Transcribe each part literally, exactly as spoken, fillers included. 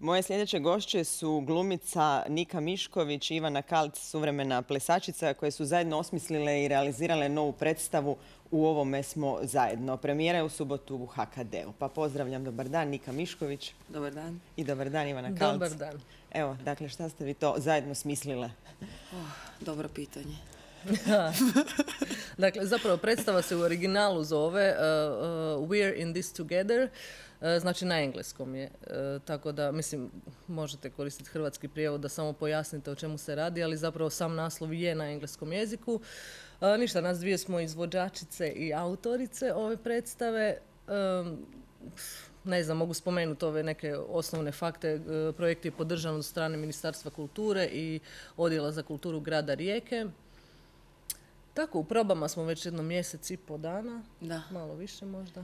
Moje sljedeće gošće su glumica Nika Mišković i Ivana Kalc, suvremena plesačica, koje su zajedno osmislile i realizirale novu predstavu U ovome smo zajedno. Premijera je u subotu u ha ka de u. Pa pozdravljam, dobar dan, Nika Mišković. Dobar dan. I dobar dan, Ivana Kalc. Dobar dan. Evo, dakle, šta ste vi to zajedno smislile? Oh, dobro pitanje. Dakle, zapravo predstava se u originalu zove uh, uh, We're in this together, uh, znači na engleskom je. Uh, tako da, mislim, možete koristiti hrvatski prijevod da samo pojasnite o čemu se radi, ali zapravo sam naslov je na engleskom jeziku. Uh, ništa, nas dvije smo izvođačice i autorice ove predstave. Um, ne znam, mogu spomenuti ove neke osnovne fakte. Uh, projekt je podržan od strane Ministarstva kulture i Odjela za kulturu grada Rijeke. Tako, u probama smo već jedno mjesec i po dana, Da. malo više možda.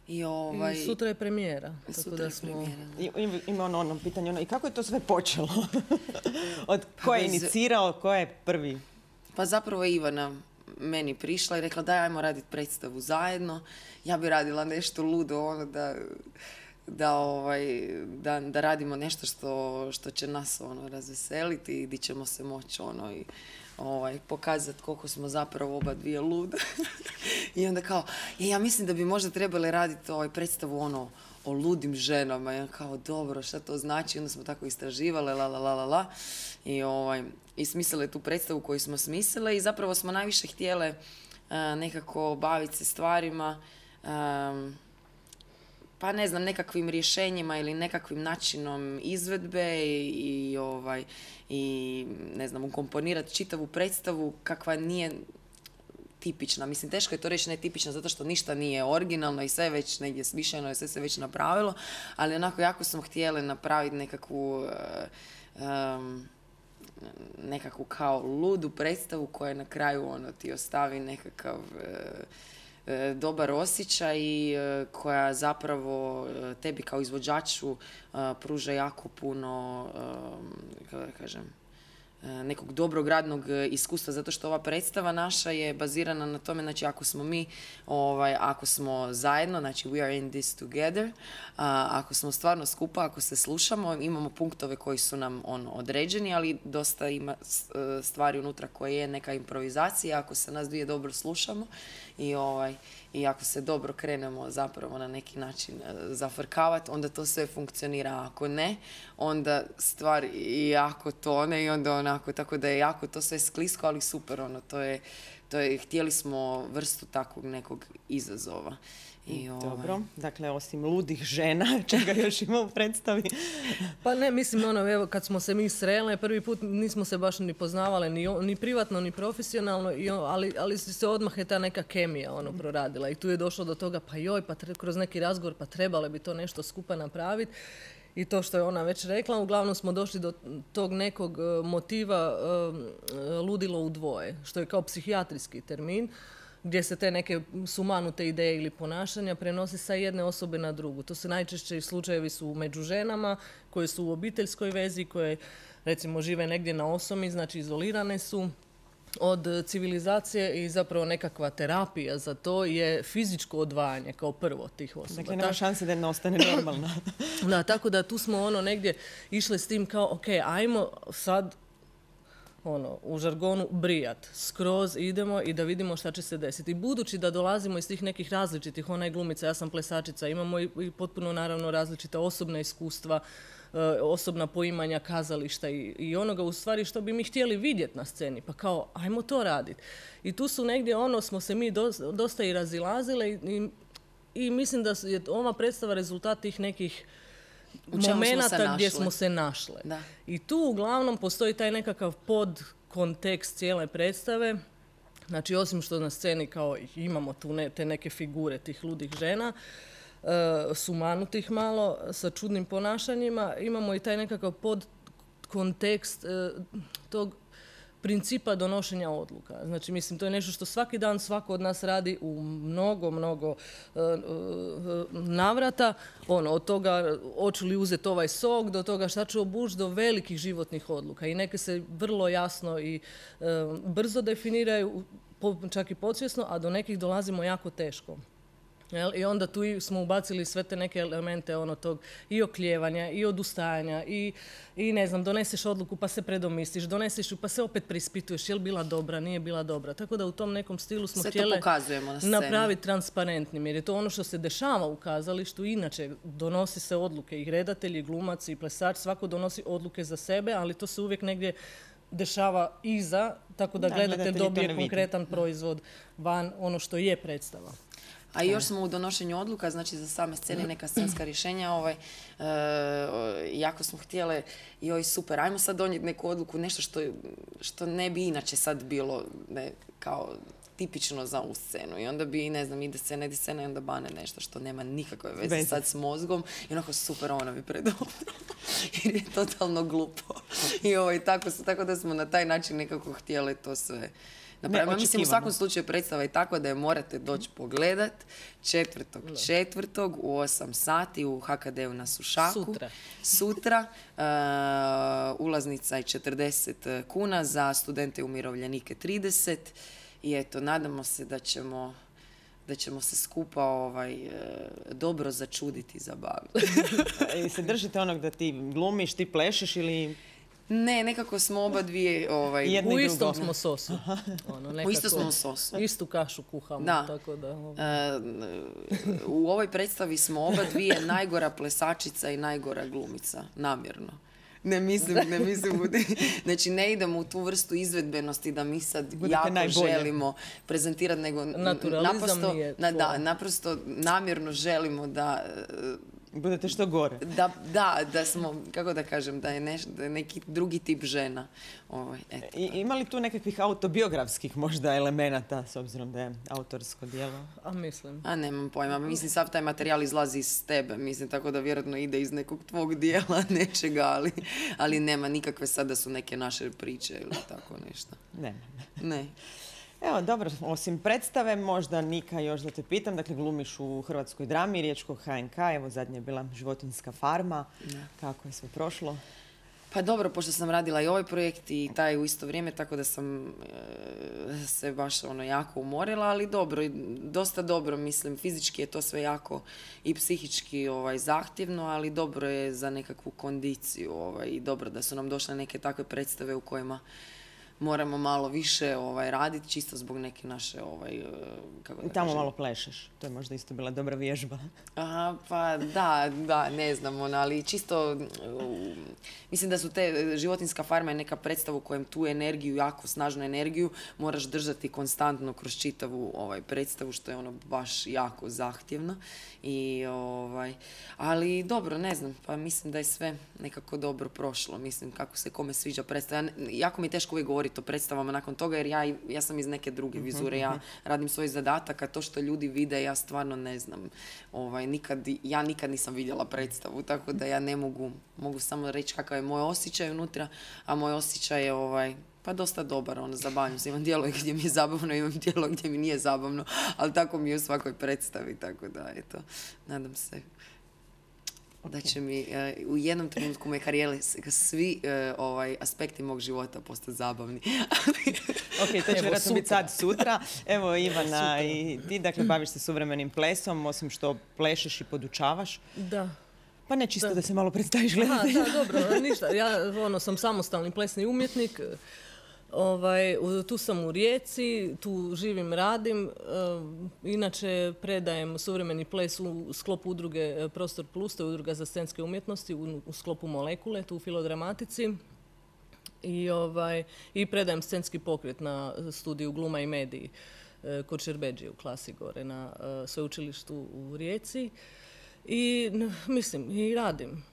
I, ovaj... I sutra je premijera. Sutra tako da je smo... premijera, da. I, ima ono, ono pitanje, ono, i kako je to sve počelo? Od Pa ko je bez- inicirao, ko je prvi? Pa zapravo je Ivana meni prišla i rekla daj ajmo raditi predstavu zajedno. Ja bi radila nešto ludo, ono da, da, ovaj, da, da radimo nešto što, što će nas ono, razveseliti i di ćemo se moći ono, i, ovaj, pokazati koliko smo zapravo oba dvije lude. I onda kao, "E, ja mislim da bi možda trebali raditi ovaj predstavu ono, o ludim ženama." I ja kao, dobro, šta to znači? Onda smo tako istraživale, la, la, la, la, la. I, ovaj, i smislile tu predstavu koju smo smislile i zapravo smo najviše htjele a, nekako baviti se stvarima, a, pa ne znam, nekakvim rješenjima ili nekakvim načinom izvedbe i, i, ovaj, i ne znam, ukomponirati čitavu predstavu kakva nije tipična. Mislim, teško je to reći netipična zato što ništa nije originalno i sve je već negdje smišljeno i sve se već napravilo, ali onako jako smo htjeli napraviti nekakvu uh, um, nekakvu kao ludu predstavu koja na kraju ono ti ostavi nekakav uh, uh, dobar osjećaj i uh, koja zapravo uh, tebi kao izvođaču uh, pruža jako puno, um, kako da kažem, nekog dobrog radnog iskustva, zato što ova predstava naša je bazirana na tome, znači ako smo mi, ovaj, ako smo zajedno, znači we are in this together, a, ako smo stvarno skupa, ako se slušamo, imamo punktove koji su nam ono, određeni, ali dosta ima stvari unutra koje je neka improvizacija, ako se nas dvije dobro slušamo i, ovaj, i ako se dobro krenemo zapravo na neki način zafrkavati, onda to sve funkcionira, a ako ne, onda stvar jako tone i onda onako, tako da je jako to sve sklisko, ali super, ono, to je, to je, htjeli smo vrstu takvog nekog izazova. I, Dobro, ovaj, dakle, osim ludih žena, čega još ima u predstavi? Pa ne, mislim, ono, evo, kad smo se mi srele, prvi put nismo se baš ni poznavale, ni, o- ni privatno, ni profesionalno, i o- ali, ali se odmah je ta neka kemija, ono, proradila. I tu je došlo do toga, pa joj, pa tre- kroz neki razgovor, pa trebale bi to nešto skupa napraviti. I to što je ona već rekla, uglavnom smo došli do tog nekog e, motiva e, e, ludilo u dvoje, što je kao psihijatrijski termin, gdje se te neke sumanute ideje ili ponašanja prenose sa jedne osobe na drugu. To se najčešće slučajevi su među ženama koje su u obiteljskoj vezi, koje recimo žive negdje na osomi, znači izolirane su od civilizacije i zapravo nekakva terapija za to je fizičko odvajanje kao prvo tih osoba. Dakle, nema šanse da ne ostane normalna. Da, tako da tu smo ono negdje išli s tim kao, ok, ajmo sad ono, u žargonu brijat. Skroz idemo i da vidimo šta će se desiti. I budući da dolazimo iz tih nekih različitih, ona je glumica, ja sam plesačica, imamo i, i potpuno naravno različita osobna iskustva, e, osobna poimanja kazališta i, i onoga u stvari što bi mi htjeli vidjeti na sceni. Pa kao, ajmo to raditi. I tu su negdje ono, smo se mi dosta, dosta i razilazile i, i, i mislim da je ova predstava rezultat tih nekih U čemu smo se momenata gdje našle. smo se našle. Da. I tu uglavnom postoji taj nekakav podkontekst cijele predstave. Znači, osim što na sceni kao imamo tu ne, te neke figure tih ludih žena, e, sumanutih malo, sa čudnim ponašanjima, imamo i taj nekakav podkontekst e, tog principa donošenja odluka. Znači, mislim, to je nešto što svaki dan svako od nas radi u mnogo, mnogo uh, uh, navrata. Ono, od toga hoću li uzeti ovaj sok, do toga šta ću obući, do velikih životnih odluka. I neke se vrlo jasno i uh, brzo definiraju, po, čak i podsvjesno, a do nekih dolazimo jako teško. Jel? I onda tu i smo ubacili sve te neke elemente ono tog i oklijevanja i odustajanja i, i ne znam, doneseš odluku pa se predomisliš, doneseš ju pa se opet prispituješ je li bila dobra, nije bila dobra. Tako da u tom nekom stilu smo sve htjeli na napraviti transparentnim jer je to ono što se dešava u kazalištu. Inače, donosi se odluke i redatelji, i glumac i plesač, svako donosi odluke za sebe, ali to se uvijek negdje dešava iza, tako da, da gledatelj dobije konkretan proizvod van ono što je predstava. A još smo u donošenju odluka, znači za same scene i neka scenska rješenja, ovaj, e, jako smo htjele, joj super, ajmo sad donijeti neku odluku, nešto što, što ne bi inače sad bilo ne, kao tipično za ovu scenu. I onda bi, ne znam, ide scena, ide scena i onda bane nešto što nema nikakve veze Vezi. sad s mozgom. I onako super, ona mi predobro. Jer je totalno glupo. I ovaj, tako, tako da smo na taj način nekako htjeli to sve napraviti. Mislim, u svakom slučaju predstava je tako da je morate doći pogledat četvrtog četvrtog u osam sati u ha ka de u na Sušaku. Sutra. Sutra. Uh, ulaznica je četrdeset kuna, za studente i umirovljenike trideset. I eto, nadamo se da ćemo, da ćemo se skupa ovaj, e, dobro začuditi i zabaviti. I se držite onog da ti glumiš, ti plešeš ili... Ne, nekako smo oba dvije... Ovaj, u istom smo sosu. Ono, nekako, u istom smo sosu. Istu kašu kuhamo. Da. Tako da ovaj. e, u ovoj predstavi smo oba dvije najgora plesačica i najgora glumica. Namjerno. Ne mislim, ne mislim. Znači, ne idemo u tu vrstu izvedbenosti da mi sad Budete jako najbolje. želimo prezentirati, nego naprosto, na, da, naprosto namjerno želimo da... Budete što gore. Da, da, da smo, kako da kažem, da je, neš, da je neki drugi tip žena. Ovaj, eto. I, ima li tu nekakvih autobiografskih možda elemenata, s obzirom da je autorsko djelo? A mislim. A nemam pojma. Mislim, sav taj materijal izlazi iz tebe. Mislim, tako da vjerojatno ide iz nekog tvog dijela, nečega, ali, ali nema nikakve sad da su neke naše priče ili tako nešto. Nema. Ne. Evo, dobro, osim predstave, možda Nika još da te pitam, dakle glumiš u Hrvatskoj drami, Riječkog ha en ka, evo zadnje je bila Životinjska farma, ja. Kako je sve prošlo? Pa dobro, pošto sam radila i ovaj projekt i taj u isto vrijeme, tako da sam e, se baš ono jako umorila, ali dobro, dosta dobro, mislim, fizički je to sve jako i psihički ovaj, zahtjevno, ali dobro je za nekakvu kondiciju ovaj, i dobro da su nam došle neke takve predstave u kojima moramo malo više ovaj, raditi, čisto zbog neke naše... Ovaj, kako da I tamo kažem. malo plešeš. To je možda isto bila dobra vježba. Aha, pa da, da, ne znam, ona, ali čisto... Uh, mislim da su te... Životinjska farma je neka predstava u kojem tu energiju, jako snažnu energiju, moraš držati konstantno kroz čitavu ovaj, predstavu, što je ono baš jako zahtjevno. I, ovaj, ali dobro, ne znam, pa mislim da je sve nekako dobro prošlo. Mislim, kako se kome sviđa predstava. Jako mi je teško uvijek govoriti o predstavama nakon toga, jer ja, ja sam iz neke druge vizure. Ja radim svoj zadatak, a to što ljudi vide, ja stvarno ne znam. Ovaj, nikad, ja nikad nisam vidjela predstavu, tako da ja ne mogu, mogu samo reći kakav je moj osjećaj unutra, a moj osjećaj je ovaj, pa dosta dobar, ono, zabavljam se. Imam dijelo gdje mi je zabavno, imam dijelo gdje mi nije zabavno, ali tako mi je u svakoj predstavi, tako da, eto, nadam se da će mi uh, u jednom trenutku moje karijere svi uh, ovaj, aspekti mog života postati zabavni. Ok, to će vjerojatno biti sad sutra. Evo Ivana, i ti dakle baviš se suvremenim plesom, osim što plešeš i podučavaš. Da. Pa ne čisto da, da se malo predstaviš gledatelju. Da, dobro, ništa. Ja ono, sam samostalni plesni umjetnik. Ovaj, tu sam u Rijeci, tu živim, radim. Inače predajem suvremeni ples u sklopu udruge Prostor Plus, to je udruga za scenske umjetnosti u, u sklopu Molekule, tu u Filodramatici. I, ovaj, i predajem scenski pokret na studiju Gluma i mediji kod Šerbeđije u klasi gore na sveučilištu u Rijeci. I mislim, i radim.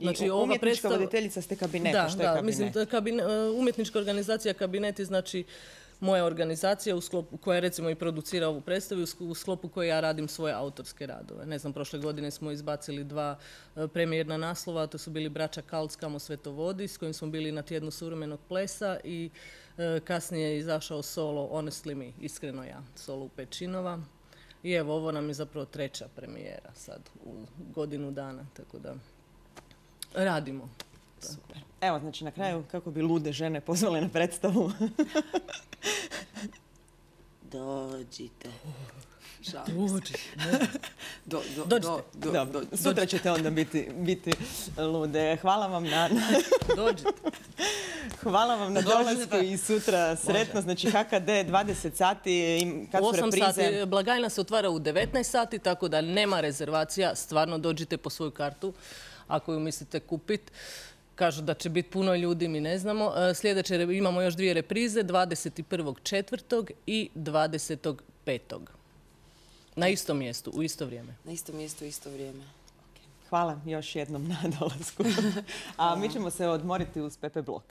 Znači, I umjetnička predstav... voditeljica ste kabineta, da, što je da, kabinet? Mislim, kabine, umjetnička organizacija kabineti, znači moja organizacija u sklopu, koja recimo i producira ovu predstavu, u sklopu koje ja radim svoje autorske radove. Ne znam, prošle godine smo izbacili dva premijerna naslova, to su bili Braća Kalc, Kamo sveto vodi, s kojim smo bili na tjednu suvremenog plesa i e, kasnije je izašao solo Honestly Me, iskreno ja, solo u Pečinova. I evo, ovo nam je zapravo treća premijera sad u godinu dana, tako da radimo. Super. Evo, znači na kraju, kako bi lude žene pozvale na predstavu? Dođite. Dođi. Do, do, Dođite. do, do, Dobro, do. sutra ćete onda biti, biti lude. Hvala vam na, na, Dođite. hvala vam na Dođite. dolasku i sutra sretno. Znači H K D dvadeset sati, im- kad U su osam reprize? sati, blagajna se otvara u devetnaest sati, tako da nema rezervacija, stvarno dođite po svoju kartu ako ju mislite kupiti. Kažu da će biti puno ljudi, mi ne znamo. E, Sljedeće re- imamo još dvije reprize, dvadeset prvog četvrtog i dvadesetog petog Na istom mjestu, u isto vrijeme. Na isto mjesto, isto vrijeme. Hvala još jednom na dolasku. A mi ćemo se odmoriti uz Pepe Blok.